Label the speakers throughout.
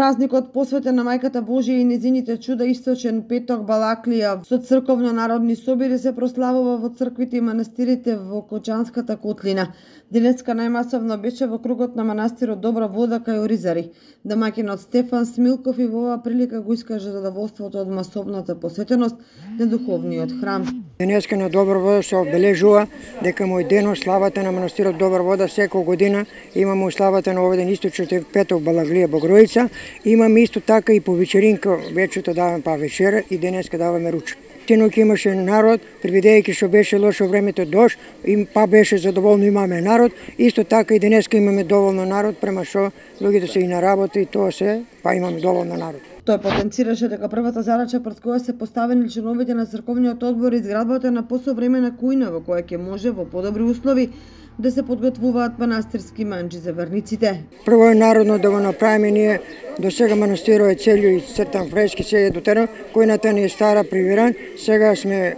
Speaker 1: Празникот посветен на Мајката Божија и незините чуда Источен петок Балаклија со црковно-народни собири се прославува во црквите и манастирите во Кочанската котлина. Денеска најмасовно беше во кругот на манастирот Добра вода кај Оризари. Домаќинот Стефан Смилков и во оваа прилика го искаже задоволството од масовната посветеност на духовниот храм.
Speaker 2: Денеска на Добра вода се обележува дека мој денот славата на манастирот Добра вода секоја година имаме славата на овој ден Источен петок Балаклија Богородица. Имаме исто така и по вечеринка, вечерта даваме па вечера и денеска даваме ручек. Тиноќ имаше народ, предвидејќи што беше лошо времето дожд, па беше задоволно имаме народ, исто така и денеска имаме доволно народ, према што луѓето се и на работа и тоа се, па имаме доволно народ.
Speaker 1: Тој потенцираше дека првата задача пред која се поставени членовите на црковниот одбор е изградбата на посовремена кујна во која ќе може во подобри услови да се подготвуваат манастирски манџи за верниците.
Speaker 2: Прво е народно да го направиме ние, до сега манастирот е целио и цртан фрески, се е дотерано, кујната не е стара, привиран, сега сме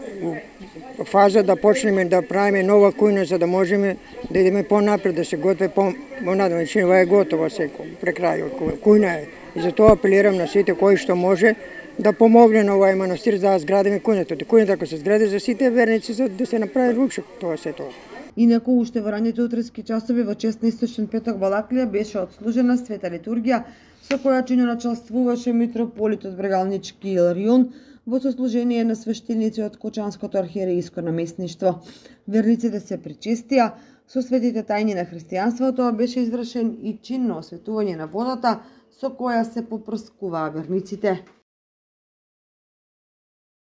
Speaker 2: во фаза да почнеме да правиме нова кујна за да можеме да идеме понапред, да се готве понадам, ова е готово секој, прекрај кујна е. И затоа апелирам на сите кои што може да помогне на овај манастир за да зградиме кујната. Кујната ако се згради за сите верници за да се направи ручек, тоа се тоа.
Speaker 1: Инаку уште во ранните утрески часови во чест на Источен петок Балаклија беше отслужена света литургија со која чино началствуваше митрополитот Брегалнички Иларион во сослужение на свештеници од Кочанското архиерејско наместништво. Верниците се причестија со светите тајни на христијанството, беше извршен и чин на осветување на водата со која се попрскуваа верниците.